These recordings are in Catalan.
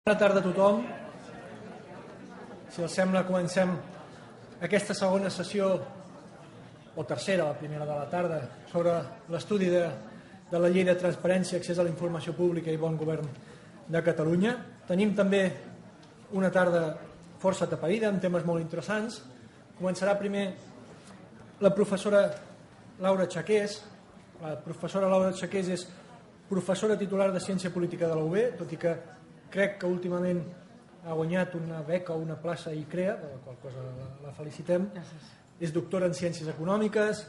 Bona tarda a tothom. Si els sembla, comencem aquesta segona sessió, o tercera, la primera de la tarda, sobre l'estudi de la llei de transparència, accés a la informació pública i bon govern de Catalunya. Tenim també una tarda força atapeïda, amb temes molt interessants. Començarà primer la professora Laura Chaqués. La professora Laura Chaqués és professora titular de Ciència Política de la UB, tot i que crec que últimament ha guanyat una beca o una plaça a ICREA, de la qual cosa la felicitem. Gràcies. És doctora en Ciències Econòmiques,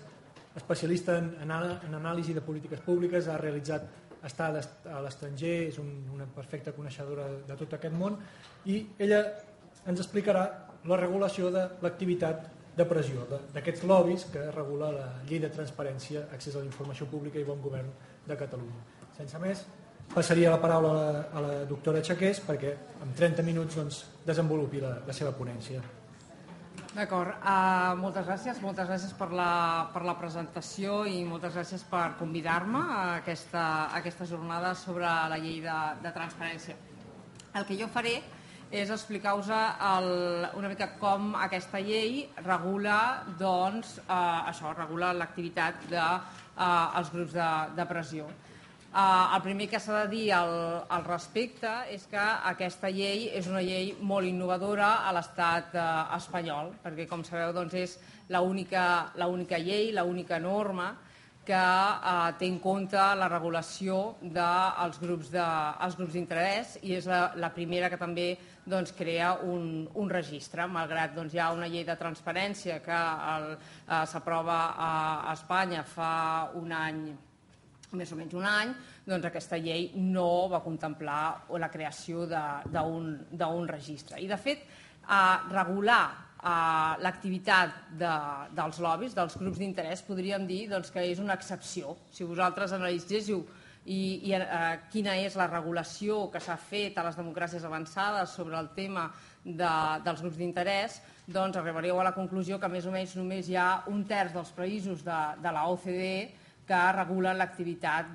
especialista en anàlisi de polítiques públiques, ha realitzat estades a l'estranger, és una perfecta coneixedora de tot aquest món, i ella ens explicarà la regulació de l'activitat de pressió, d'aquests lobbies que regula la llei de transparència, accés a la informació pública i bon govern de Catalunya. Sense més, passaria la paraula a la doctora Chaqués perquè en 30 minuts desenvolupi la seva ponència. D'acord, moltes gràcies per la presentació i moltes gràcies per convidar-me a aquesta jornada sobre la llei de transparència. El que jo faré és explicar-vos una mica com aquesta llei regula regula l'activitat dels grups de pressió. El primer que s'ha de dir al respecte és que aquesta llei és una llei molt innovadora a l'estat espanyol, perquè com sabeu és l'única llei, l'única norma que té en compte la regulació dels grups d'interès i és la primera que també crea un registre, malgrat hi ha una llei de transparència que s'aprova a Espanya fa un any, més o menys un any, aquesta llei no va contemplar la creació d'un registre. I, de fet, regular l'activitat dels lobbies, dels grups d'interès, podríem dir que és una excepció. Si vosaltres analitzéssiu quina és la regulació que s'ha fet a les democràcies avançades sobre el tema dels grups d'interès, arribaríeu a la conclusió que més o menys només hi ha un terç dels països de l'OCDE que regulen l'activitat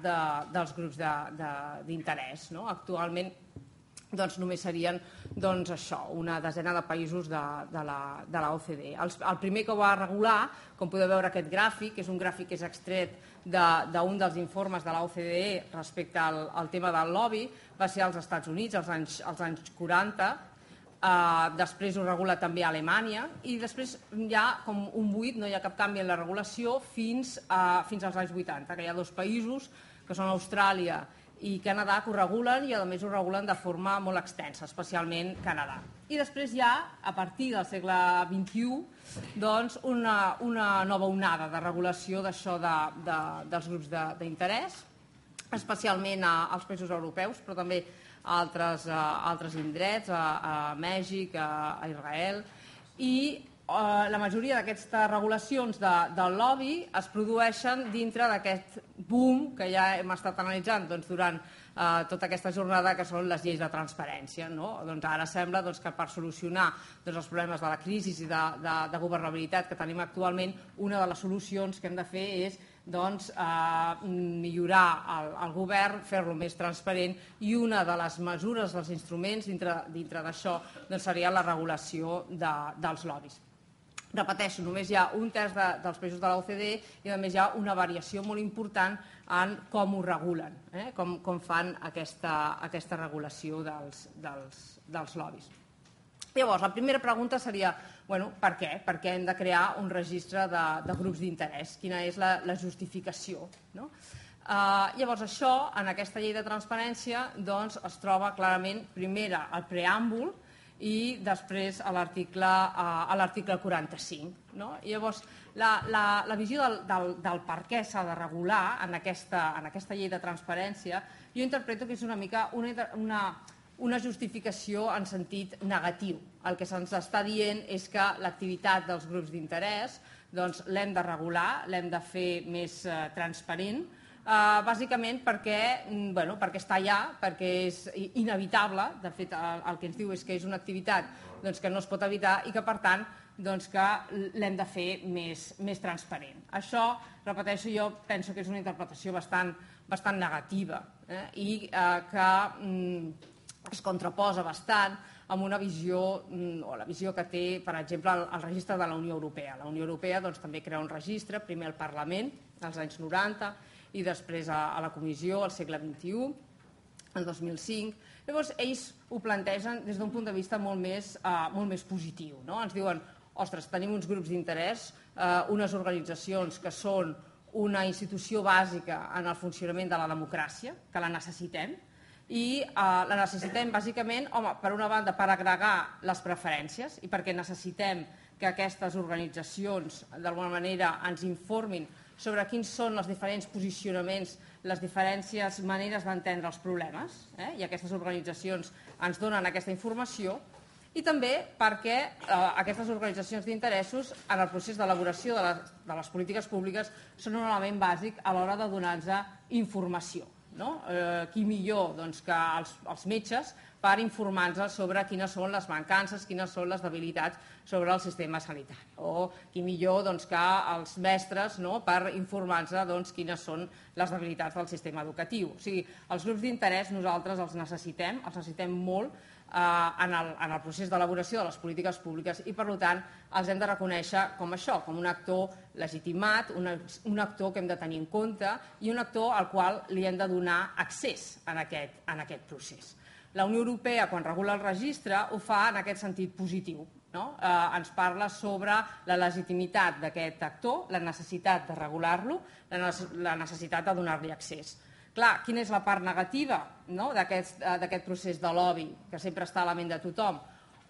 dels grups d'interès. Actualment només serien una desena de països de l'OCDE. El primer que ho va regular, com podeu veure aquest gràfic, és un gràfic que és extret d'un dels informes de l'OCDE respecte al tema del lobby, va ser als Estats Units als anys 40, després ho regula també a Alemanya i després hi ha com un buit, no hi ha cap canvi en la regulació fins als anys 80, que hi ha dos països que són Austràlia i Canadà que ho regulen i a més ho regulen de forma molt extensa, especialment Canadà. I després hi ha, a partir del segle XXI, una nova onada de regulació d'això dels grups d'interès, especialment als països europeus, però també a altres indrets, a Mèxic, a Israel, i la majoria d'aquestes regulacions del lobby es produeixen dintre d'aquest boom que ja hem estat analitzant durant tota aquesta jornada, que són les lleis de transparència. Ara sembla que per solucionar els problemes de la crisi i de governabilitat que tenim actualment, una de les solucions que hem de fer és millorar el govern, fer-lo més transparent, i una de les mesures, dels instruments dintre d'això seria la regulació dels lobbies. Repeteixo, només hi ha un terç dels països de l'OCDE i a més hi ha una variació molt important en com ho regulen, com fan aquesta regulació dels lobbies. Llavors, la primera pregunta seria, per què? Per què hem de crear un registre de grups d'interès? Quina és la justificació? Llavors, això, en aquesta llei de transparència, es troba clarament, primera, al preàmbul, i després a l'article 45. Llavors, la visió del per què s'ha de regular en aquesta llei de transparència, jo interpreto que és una mica una justificació en sentit negatiu. El que se'ns està dient és que l'activitat dels grups d'interès l'hem de regular, l'hem de fer més transparent, bàsicament perquè està allà, perquè és inevitable. De fet, el que ens diu és que és una activitat que no es pot evitar i que, per tant, que l'hem de fer més transparent. Això, repeteixo, jo penso que és una interpretació bastant negativa i que es contraposa bastant amb una visió, o la visió que té, per exemple, el registre de la Unió Europea. La Unió Europea també crea un registre, primer al Parlament, als anys 90, i després a la Comissió, al segle XXI, el 2005. Llavors, ells ho plantegen des d'un punt de vista molt més positiu. Ens diuen, ostres, tenim uns grups d'interès, unes organitzacions que són una institució bàsica en el funcionament de la democràcia, que la necessitem, i la necessitem bàsicament, per una banda, per agregar les preferències i perquè necessitem que aquestes organitzacions d'alguna manera ens informin sobre quins són els diferents posicionaments, les diferents maneres d'entendre els problemes, i aquestes organitzacions ens donen aquesta informació, i també perquè aquestes organitzacions d'interessos en el procés d'elaboració de les polítiques públiques són un element bàsic a l'hora de donar-nos informació. Qui millor que els metges per informar-nos sobre quines són les mancances, quines són les debilitats sobre el sistema sanitari, o qui millor que els mestres per informar-nos quines són les debilitats del sistema educatiu. O sigui, els grups d'interès nosaltres els necessitem molt en el procés d'elaboració de les polítiques públiques i, per tant, els hem de reconèixer com això, com un actor legitimat, un actor que hem de tenir en compte i un actor al qual li hem de donar accés en aquest procés. La Unió Europea, quan regula el registre, ho fa en aquest sentit positiu. Ens parla sobre la legitimitat d'aquest actor, la necessitat de regular-lo, la necessitat de donar-li accés. Clar, quina és la part negativa d'aquest procés de lobby que sempre està a la ment de tothom?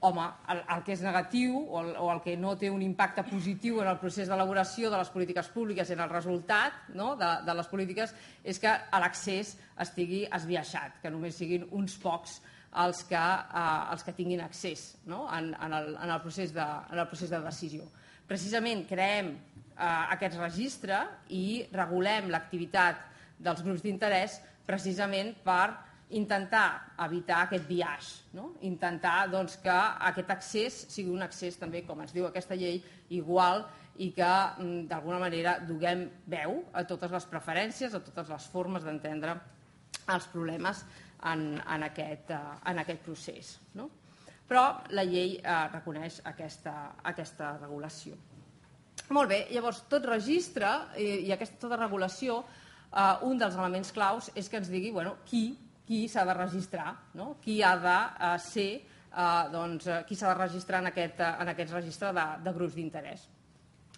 Home, el que és negatiu o el que no té un impacte positiu en el procés d'elaboració de les polítiques públiques i en el resultat de les polítiques és que l'accés estigui esbiaixat, que només siguin uns pocs els que tinguin accés en el procés de decisió. Precisament creem aquest registre i regulem l'activitat dels grups d'interès precisament per intentar evitar aquest biaix, intentar que aquest accés sigui un accés també, com ens diu aquesta llei, igual i que d'alguna manera donem veu a totes les preferències, a totes les formes d'entendre els problemes en aquest procés. Però la llei reconeix aquesta regulació. Molt bé, llavors tot registre i tota regulació, un dels elements claus és que ens digui qui s'ha de registrar, qui ha de ser, qui s'ha de registrar en aquest registre de grups d'interès.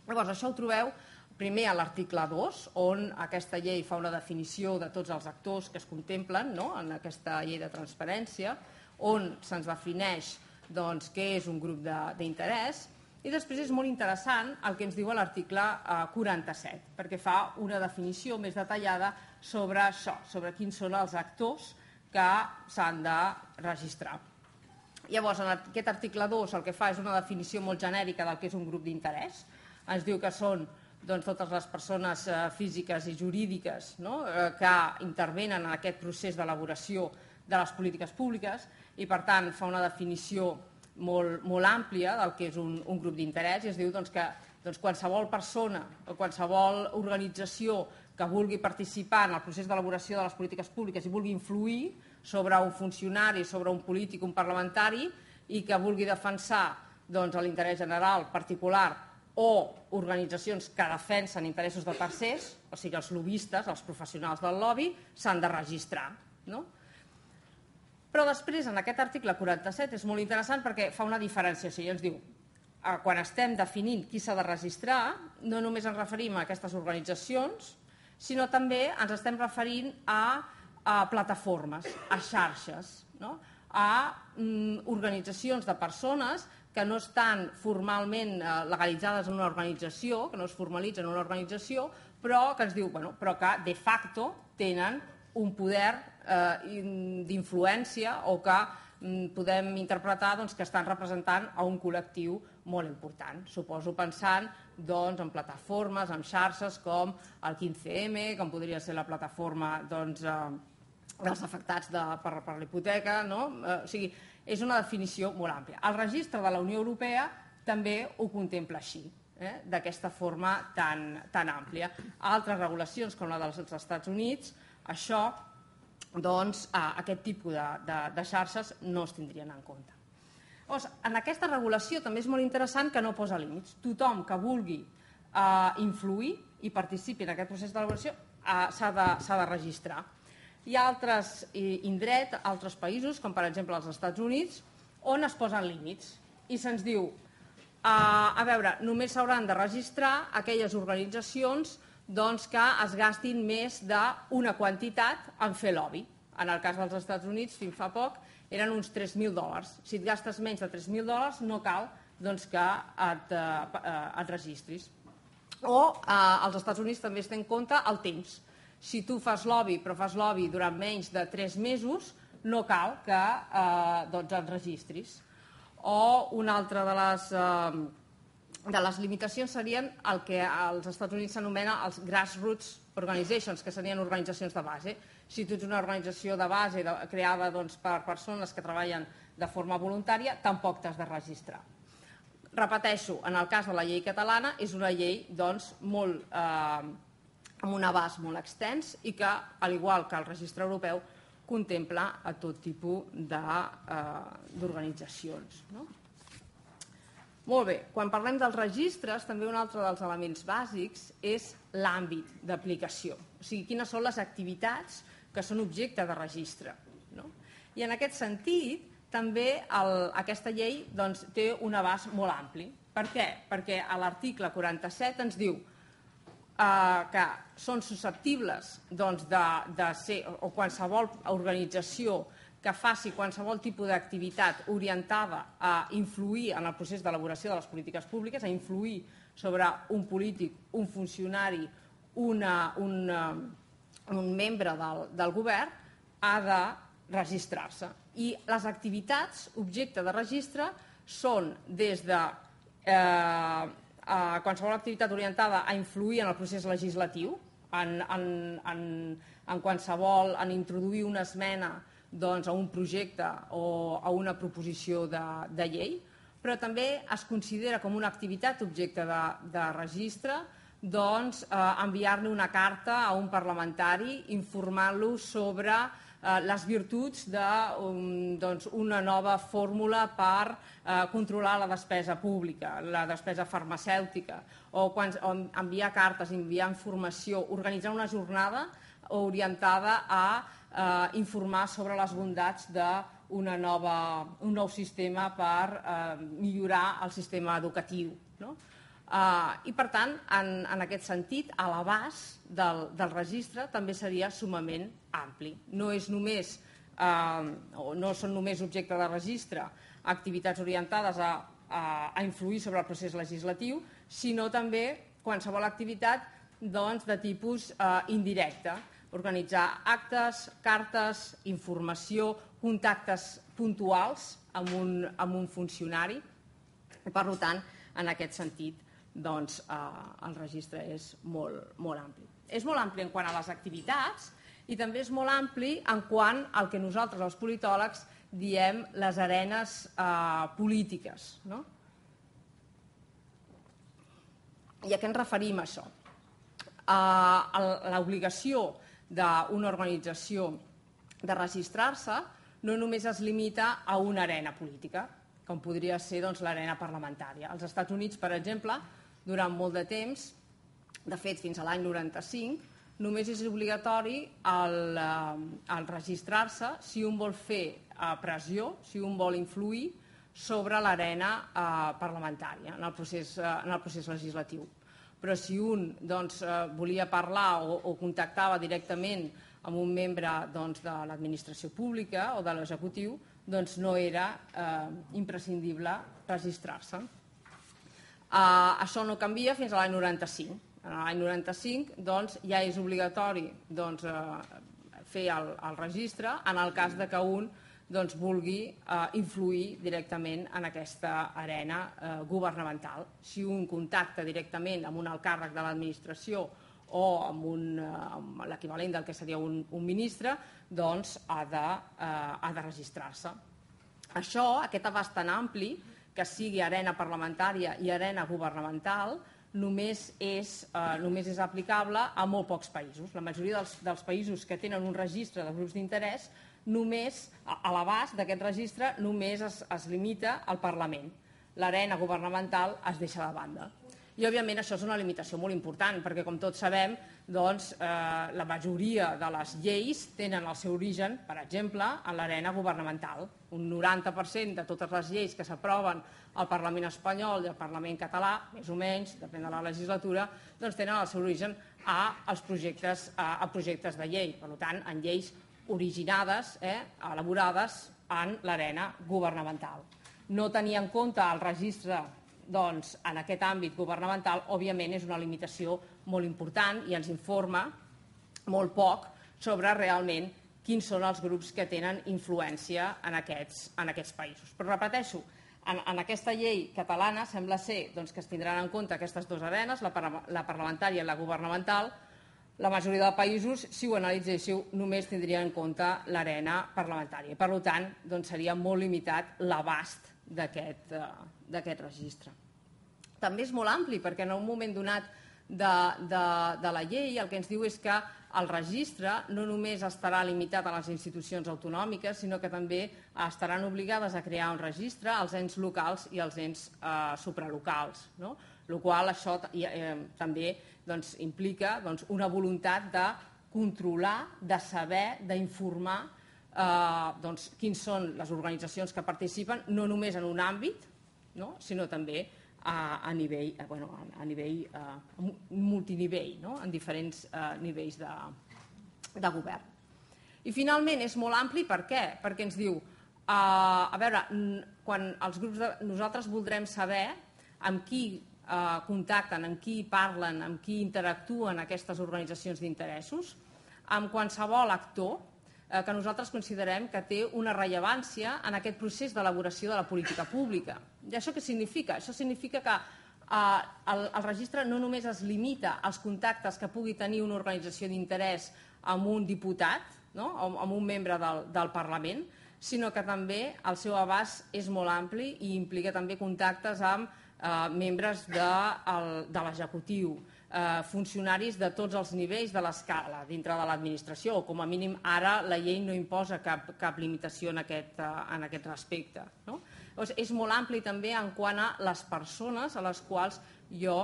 Llavors, això ho trobeu primer a l'article 2, on aquesta llei fa una definició de tots els actors que es contemplen en aquesta llei de transparència, on se'ns defineix què és un grup d'interès. I després és molt interessant el que ens diu l'article 47, perquè fa una definició més detallada sobre això, sobre quins són els actors que s'han de registrar. Llavors, en aquest article 2 el que fa és una definició molt genèrica del que és un grup d'interès. Ens diu que són totes les persones físiques i jurídiques que intervenen en aquest procés d'elaboració de les polítiques públiques i, per tant, fa una definició molt àmplia del que és un grup d'interès i es diu que qualsevol persona o qualsevol organització que vulgui participar en el procés d'elaboració de les polítiques públiques i vulgui influir sobre un funcionari, sobre un polític, un parlamentari i que vulgui defensar l'interès general particular o organitzacions que defensen interessos de tercers, o sigui, els lobbistes, els professionals del lobby, s'han de registrar. Però després, en aquest article 47, és molt interessant perquè fa una diferenciació i ens diu quan estem definint qui s'ha de registrar, no només ens referim a aquestes organitzacions, sinó també ens estem referint a plataformes, a xarxes, a organitzacions de persones que no estan formalment legalitzades en una organització, que no es formalitzen en una organització, però que ens diu però que de facto tenen un poder d'influència o que podem interpretar que estan representant a un col·lectiu molt important. Suposo pensant en plataformes, en xarxes com el 15M, com podria ser la plataforma dels afectats per la hipoteca. O sigui, és una definició molt àmplia. El registre de la Unió Europea també ho contempla així, d'aquesta forma tan àmplia. Altres regulacions, com la dels Estats Units, això doncs aquest tipus de xarxes no es tindrien en compte. Llavors, en aquesta regulació també és molt interessant que no posa límits. Tothom que vulgui influir i participi en aquest procés d'elaboració s'ha de registrar. Hi ha altres indrets, altres països, com per exemple els Estats Units, on es posen límits i se'ns diu, a veure, només s'hauran de registrar aquelles organitzacions que es gastin més d'una quantitat en fer lobby. En el cas dels Estats Units, fins fa poc, eren uns $3.000. Si et gastes menys de $3.000 no cal que et registris. O als Estats Units també es té en compte el temps. Si tu fas lobby, però fas lobby durant menys de 3 mesos, no cal que et registris. O una altra de les limitacions serien el que als Estats Units s'anomena els grassroots organizations, que serien organitzacions de base. Si tu ets una organització de base creada per persones que treballen de forma voluntària, tampoc t'has de registrar. Repeteixo, en el cas de la llei catalana, és una llei amb un abast molt extens i que, al igual que el registre europeu, contempla a tot tipus d'organitzacions. Molt bé, quan parlem dels registres, també un altre dels elements bàsics és l'àmbit d'aplicació, o sigui, quines són les activitats que són objecte de registre. I en aquest sentit, també aquesta llei té un abast molt ampli. Per què? Perquè a l'article 47 ens diu que són susceptibles de ser, o qualsevol organització que faci qualsevol tipus d'activitat orientada a influir en el procés d'elaboració de les polítiques públiques, a influir sobre un polític, un funcionari, un membre del govern, ha de registrar-se. I les activitats objecte de registre són des de qualsevol activitat orientada a influir en el procés legislatiu, en introduir una esmena a un projecte o a una proposició de llei, però també es considera com una activitat objecte de registre enviar-li una carta a un parlamentari informant-lo sobre les virtuts d'una nova fórmula per controlar la despesa pública, la despesa farmacèutica, o enviar cartes, enviar informació, organitzar una jornada orientada a informar sobre les bondats d'un nou sistema per millorar el sistema educatiu. I, per tant, en aquest sentit, l'abast del registre també seria sumament ampli. No són només objecte de registre activitats orientades a influir sobre el procés legislatiu, sinó també qualsevol activitat de tipus indirecte, organitzar actes, cartes, informació, contactes puntuals amb un funcionari. Per tant, en aquest sentit, el registre és molt ampli. És molt ampli en quant a les activitats i també és molt ampli en quant al que nosaltres, els politòlegs, diem les arenes polítiques. I a què ens referim, això? L'obligació d'una organització de registrar-se no només es limita a una arena política, com podria ser l'arena parlamentària. Als Estats Units, per exemple, durant molt de temps, de fet fins a l'any 95, només és obligatori el registrar-se si un vol fer pressió, si un vol influir sobre l'arena parlamentària en el procés legislatiu. Però si un volia parlar o contactava directament amb un membre de l'administració pública o de l'executiu, no era imprescindible registrar-se. Això no canvia fins a l'any 95. En l'any 95 ja és obligatori fer el registre en el cas que un vulgui influir directament en aquesta arena governamental. Si un contacta directament amb un alt càrrec de l'administració o amb l'equivalent del que seria un ministre, ha de registrar-se. Això, aquest abast tan ampli, que sigui arena parlamentària i arena governamental, només és aplicable a molt pocs països. La majoria dels països que tenen un registre de grups d'interès, només a l'abast d'aquest registre només es limita al Parlament. L'arena governamental es deixa de banda. I, òbviament, això és una limitació molt important, perquè, com tots sabem, la majoria de les lleis tenen el seu origen, per exemple, en l'arena governamental. Un 90% de totes les lleis que s'aproven al Parlament espanyol i al Parlament català, més o menys, depèn de la legislatura, tenen el seu origen a projectes de llei. Per tant, en lleis originades, elaborades en l'arena governamental. No tenir en compte el registre en aquest àmbit governamental, òbviament, és una limitació molt important i ens informa molt poc sobre realment quins són els grups que tenen influència en aquests països. Però repeteixo, en aquesta llei catalana sembla ser que es tindran en compte aquestes dues arenes, la parlamentària i la governamental. La majoria de països, si ho analitzéssiu, només tindrien en compte l'arena parlamentària. Per tant, seria molt limitat l'abast d'aquest registre. També és molt ampli, perquè en un moment donat de la llei el que ens diu és que el registre no només estarà limitat a les institucions autonòmiques, sinó que també estaran obligades a crear un registre als ens locals i als ens supralocals, el qual això també implica una voluntat de controlar, de saber, d'informar quins són les organitzacions que participen, no només en un àmbit, sinó també a nivell multinivell, en diferents nivells de govern. I finalment és molt ampli, per què? Perquè ens diu, a veure, quan els grups nosaltres voldrem saber amb qui contacten, amb qui parlen, amb qui interactuen aquestes organitzacions d'interessos, amb qualsevol actor que nosaltres considerem que té una rellevància en aquest procés d'elaboració de la política pública. I això què significa? Això significa que el registre no només es limita als contactes que pugui tenir una organització d'interès amb un diputat, amb un membre del Parlament, sinó que també el seu abast és molt ampli i implica també contactes amb membres de l'executiu, funcionaris de tots els nivells de l'escala dintre de l'administració, o com a mínim ara la llei no imposa cap limitació en aquest respecte. És molt ampli també en quant a les persones a les quals jo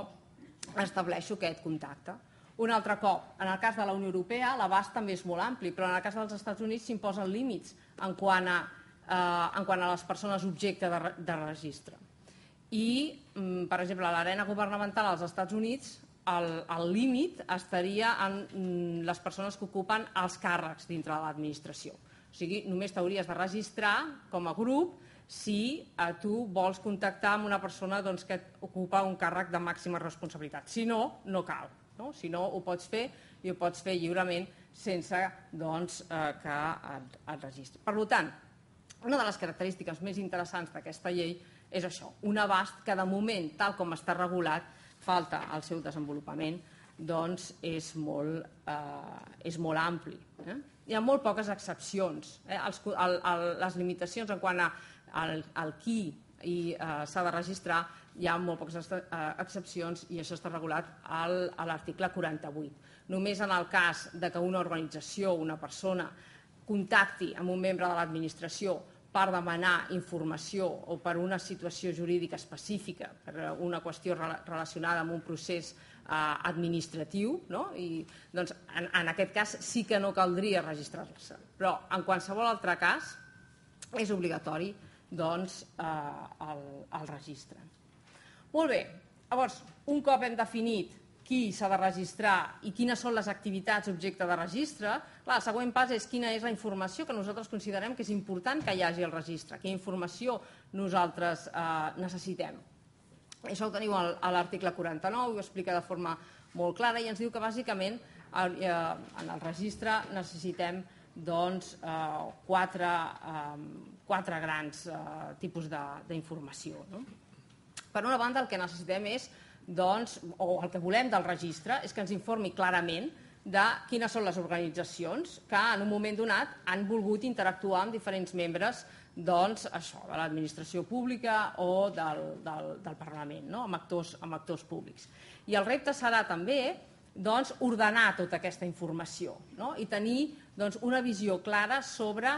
estableixo aquest contacte. Un altre cop, en el cas de la Unió Europea l'abast també és molt ampli, però en el cas dels Estats Units s'imposen límits en quant a les persones objecte de registre. I, per exemple, a l'arena governamental als Estats Units el límit estaria en les persones que ocupen els càrrecs dintre de l'administració. O sigui, només t'hauries de registrar com a grup si tu vols contactar amb una persona que ocupa un càrrec de màxima responsabilitat. Si no, no cal. Si no, ho pots fer i ho pots fer lliurement sense que et registri. Per tant, una de les característiques més interessants d'aquesta llei és això, un abast que de moment, tal com està regulat, falta el seu desenvolupament, és molt ampli. Hi ha molt poques excepcions. Les limitacions en quant al qui s'ha de registrar, hi ha molt poques excepcions i això està regulat a l'article 48. Només en el cas que una organització o una persona contacti amb un membre de l'administració per demanar informació o per una situació jurídica específica, per una qüestió relacionada amb un procés administratiu, en aquest cas sí que no caldria registrar-se. Però en qualsevol altre cas és obligatori el registre. Molt bé, llavors, un cop hem definit qui s'ha de registrar i quines són les activitats objecte de registre, el següent pas és quina és la informació que nosaltres considerem que és important que hi hagi al registre, quina informació nosaltres necessitem. Això ho teniu a l'article 49, ho explica de forma molt clara i ens diu que bàsicament en el registre necessitem quatre grans tipus d'informació. Per una banda, el que necessitem és o el que volem del registre és que ens informi clarament de quines són les organitzacions que en un moment donat han volgut interactuar amb diferents membres doncs, això, de l'administració pública o del Parlament, no? amb actors públics. I el repte serà també doncs, ordenar tota aquesta informació, no? I tenir doncs, una visió clara sobre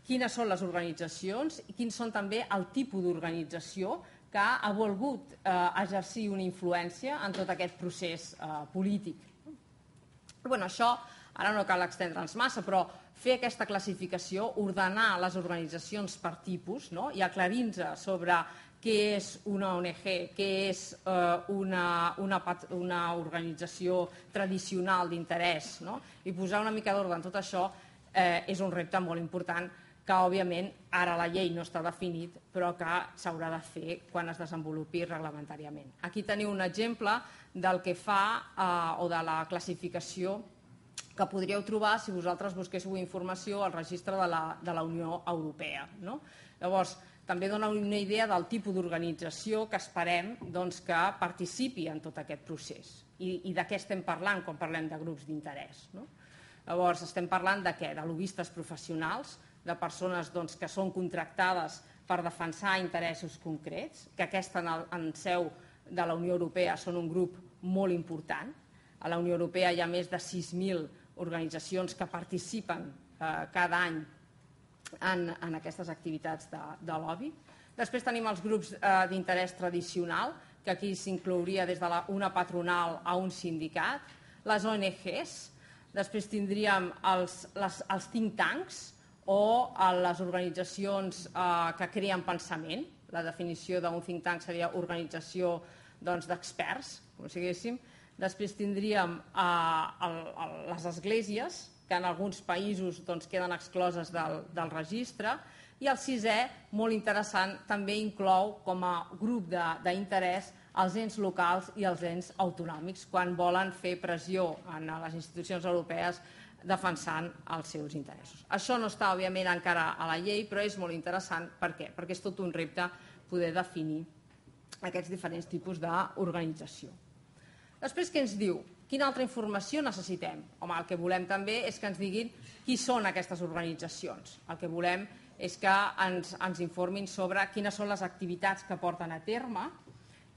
quines són les organitzacions i quins són també el tipus d'organització que ha volgut exercir una influència en tot aquest procés polític. Bueno, això ara no cal extendre'ns massa, però fer aquesta classificació, ordenar les organitzacions per tipus, no? I aclarir-nos sobre què és una ONG, què és una organització tradicional d'interès, no? I posar una mica d'ordre en tot això és un repte molt important que, òbviament, ara la llei no està definit, però que s'haurà de fer quan es desenvolupi reglamentàriament. Aquí teniu un exemple del que fa o de la classificació que podríeu trobar si vosaltres busquéssiu informació al registre de la Unió Europea. No? Llavors, també dona una idea del tipus d'organització que esperem doncs, que participi en tot aquest procés i de què estem parlant quan parlem de grups d'interès. No? Llavors, estem parlant de què? De lobbistes professionals, de persones doncs, que són contractades per defensar interessos concrets, que aquesta en seu de la Unió Europea són un grup molt important. A la Unió Europea hi ha més de 6.000 organitzacions que participen cada any en aquestes activitats de lobby. Després tenim els grups d'interès tradicional, que aquí s'inclouria des d'una patronal a un sindicat, les ONGs, després tindríem els think tanks o les organitzacions que creen pensament. La definició d'un think tank seria organització d'experts, com si diguéssim. Després tindríem les esglésies, que en alguns països queden excloses del registre, i el sisè, molt interessant, també inclou com a grup d'interès els ens locals i els ens autonòmics, quan volen fer pressió en les institucions europees defensant els seus interessos. Això no està, òbviament, encara a la llei, però és molt interessant. Per què? Perquè és tot un repte poder definir aquests diferents tipus d'organització. Després, què ens diu? Quina altra informació necessitem? Home, el que volem també és que ens diguin qui són aquestes organitzacions. El que volem és que ens informin sobre quines són les activitats que porten a terme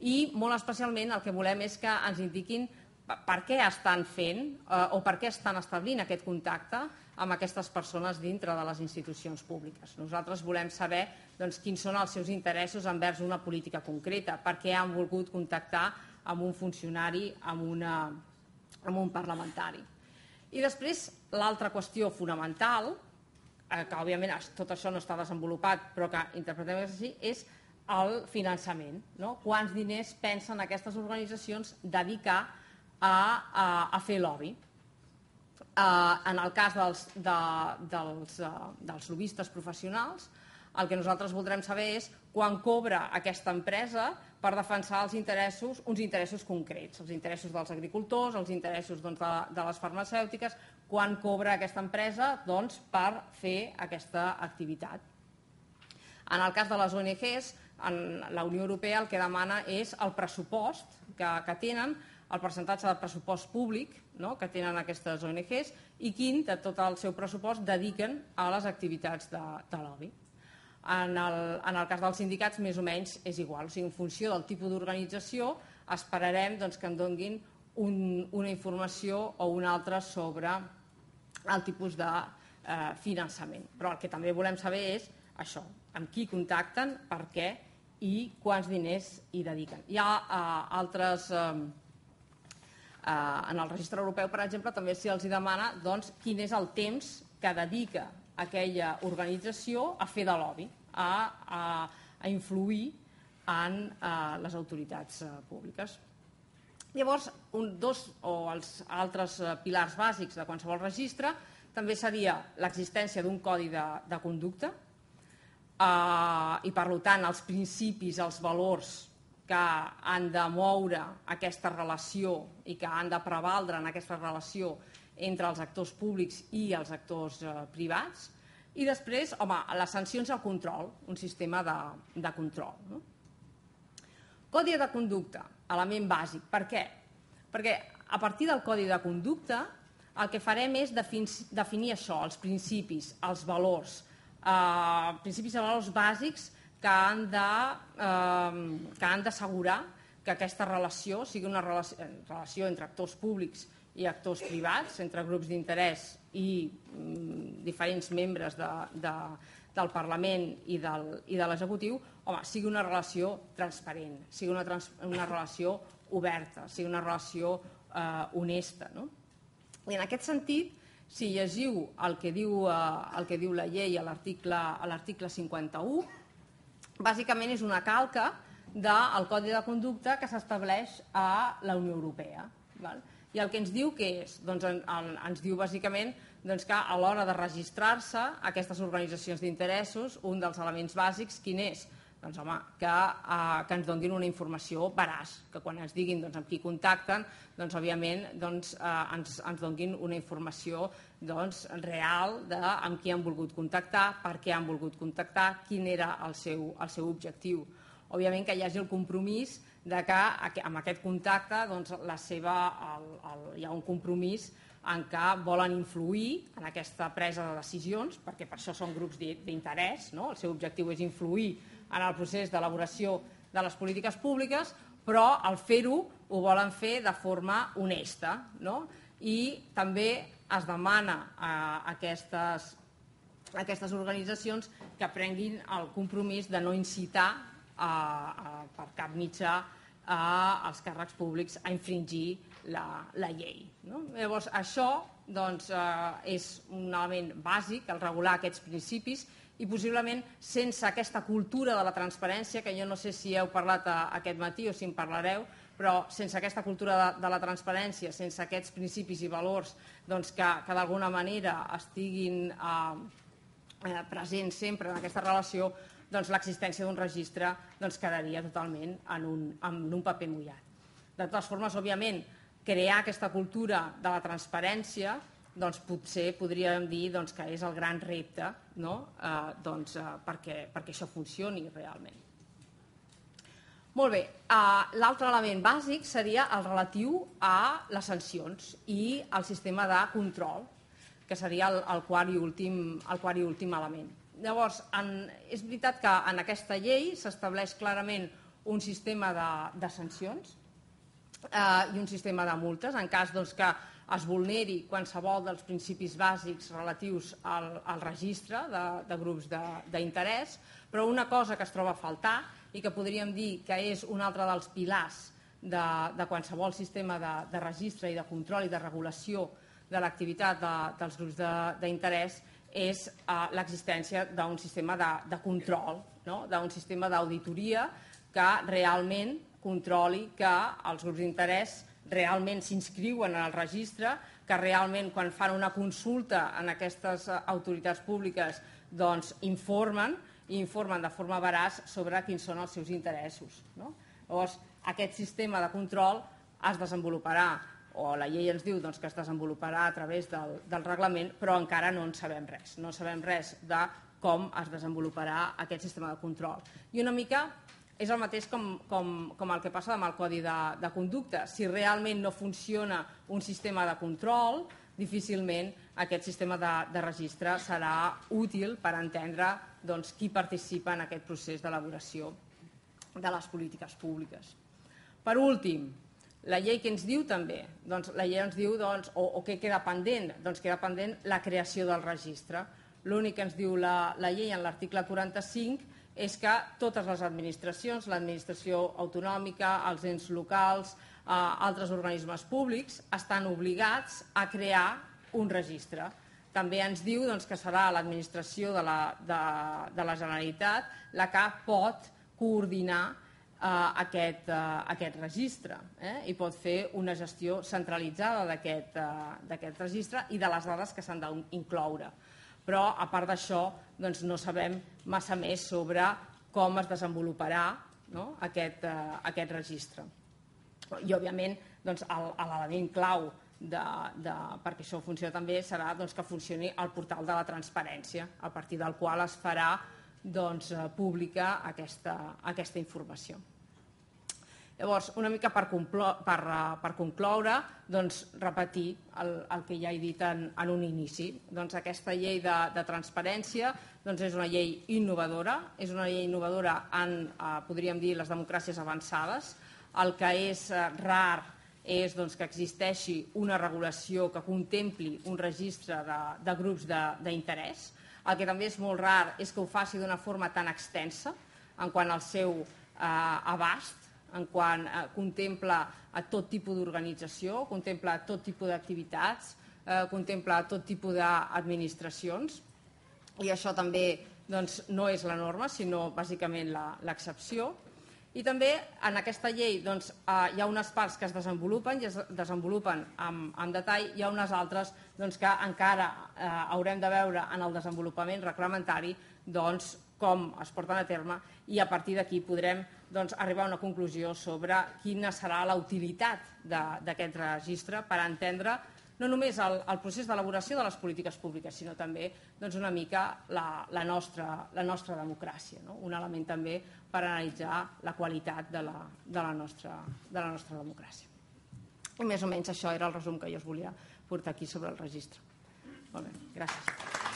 i, molt especialment, el que volem és que ens indiquin per què estan fent o per què estan establint aquest contacte amb aquestes persones dintre de les institucions públiques. Nosaltres volem saber quins són els seus interessos envers una política concreta, per què han volgut contactar amb un funcionari, amb un parlamentari. I després, l'altra qüestió fonamental, que òbviament tot això no està desenvolupat, però que interpretem així, és el finançament. Quants diners pensen aquestes organitzacions dedicar a fer lobby? En el cas dels lobbistes professionals, el que nosaltres voldrem saber és quan cobra aquesta empresa per defensar uns interessos concrets, els interessos dels agricultors, els interessos de les farmacèutiques, quan cobra aquesta empresa per fer aquesta activitat. En el cas de les ONGs, la Unió Europea el que demana és el pressupost que tenen, el percentatge de pressupost públic que tenen aquestes ONGs i quin de tot el seu pressupost dediquen a les activitats de lobby. En el cas dels sindicats, més o menys és igual. O sigui, en funció del tipus d'organització, esperarem que en donin una informació o una altra sobre el tipus de finançament. Però el que també volem saber és això, amb qui contacten, per què i quants diners hi dediquen. Hi ha altres... En el registre europeu, per exemple, també se'ls demana quin és el temps que dedica aquella organització a fer de lobby, a influir en les autoritats públiques. Llavors, els altres pilars bàsics de qualsevol registre també seria l'existència d'un codi de conducta i, per tant, els principis, els valors que han de moure aquesta relació i que han de prevaldre en aquesta relació entre els actors públics i els actors privats. I després, les sancions al control, un sistema de control. Codi de conducta, element bàsic. Per què? Perquè a partir del codi de conducta el que farem és definir això, els principis, els valors, principis i valors bàsics que han d'assegurar que aquesta relació sigui una relació entre actors públics i actors privats, entre grups d'interès i diferents membres del Parlament i de l'executiu, sigui una relació transparent, sigui una relació oberta, sigui una relació honesta. I en aquest sentit, si llegiu el que diu la llei a l'article 51, bàsicament és una calca del Codi de Conducta que s'estableix a la Unió Europea. I el que ens diu què és? Ens diu bàsicament que a l'hora de registrar-se aquestes organitzacions d'interessos, un dels elements bàsics, quin és? Que ens donin una informació veraç, que quan ens diguin amb qui contacten, òbviament ens donin una informació real de amb qui han volgut contactar, per què han volgut contactar, quin era el seu objectiu. Òbviament que hi hagi el compromís de que amb aquest contacte hi ha un compromís en què volen influir en aquesta presa de decisions, perquè per això són grups d'interès, el seu objectiu és influir en el procés d'elaboració de les polítiques públiques, però al fer-ho ho volen fer de forma honesta. I també es demana a aquestes organitzacions que prenguin el compromís de no incitar per cap mitjà als càrrecs públics a infringir la llei. Llavors, això és un element bàsic, el regular aquests principis, i possiblement sense aquesta cultura de la transparència, que jo no sé si heu parlat aquest matí o si en parlareu, però sense aquesta cultura de la transparència, sense aquests principis i valors que d'alguna manera estiguin presents sempre en aquesta relació, l'existència d'un registre quedaria totalment en un paper mullat. De totes formes, òbviament, crear aquesta cultura de la transparència potser podríem dir que és el gran repte perquè això funcioni realment. Molt bé, l'altre element bàsic seria el relatiu a les sancions i al sistema de control, que seria el quart i últim element. Llavors, és veritat que en aquesta llei s'estableix clarament un sistema de sancions i un sistema de multes en cas que es vulneri qualsevol dels principis bàsics relatius al registre de grups d'interès, però una cosa que es troba a faltar i que podríem dir que és un altre dels pilars de qualsevol sistema de registre i de control i de regulació de l'activitat dels grups d'interès és l'existència d'un sistema de control, d'un sistema d'auditoria que realment controli que els grups d'interès realment s'inscriuen en el registre, que realment quan fan una consulta en aquestes autoritats públiques informen de forma veraç sobre quins són els seus interessos. Llavors, aquest sistema de control es desenvoluparà, o la llei ens diu que es desenvoluparà a través del reglament, però encara no en sabem res. No sabem res de com es desenvoluparà aquest sistema de control. I una mica és el mateix com el que passa amb el Codi de Conducta. Si realment no funciona un sistema de control, difícilment aquest sistema de registre serà útil per entendre qui participa en aquest procés d'elaboració de les polítiques públiques. Per últim, la llei que ens diu també? La llei ens diu, o què queda pendent? Doncs queda pendent la creació del registre. L'únic que ens diu la llei en l'article 45 és que totes les administracions, l'administració autonòmica, els ens locals, altres organismes públics, estan obligats a crear un registre. També ens diu que serà l'administració de la Generalitat la que pot coordinar aquest registre i pot fer una gestió centralitzada d'aquest registre i de les dades que s'han d'incloure. Però, a part d'això, no sabem massa més sobre com es desenvoluparà aquest registre. I, òbviament, l'element clau perquè això funcioni també serà que funcioni el portal de la transparència, a partir del qual es farà pública aquesta informació. Llavors, una mica per concloure, repetir el que ja he dit en un inici. Aquesta llei de transparència és una llei innovadora, en, podríem dir, les democràcies avançades. El que és rar és que existeixi una regulació que contempli un registre de grups d'interès. El que també és molt rar és que ho faci d'una forma tan extensa en quant al seu abast, en quant contempla a tot tipus d'organització, contempla tot tipus d'activitats, contempla tot tipus d'administracions, i això també no és la norma, sinó bàsicament l'excepció. I també en aquesta llei hi ha unes parts que es desenvolupen i es desenvolupen en detall, hi ha unes altres que encara haurem de veure en el desenvolupament reglamentari com es porten a terme, i a partir d'aquí podrem arribar a una conclusió sobre quina serà la utilitat d'aquest registre per entendre no només el procés d'elaboració de les polítiques públiques, sinó també una mica la nostra democràcia, un element també per analitzar la qualitat de la nostra democràcia. I més o menys això era el resum que jo us volia portar aquí sobre el registre. Molt bé, gràcies.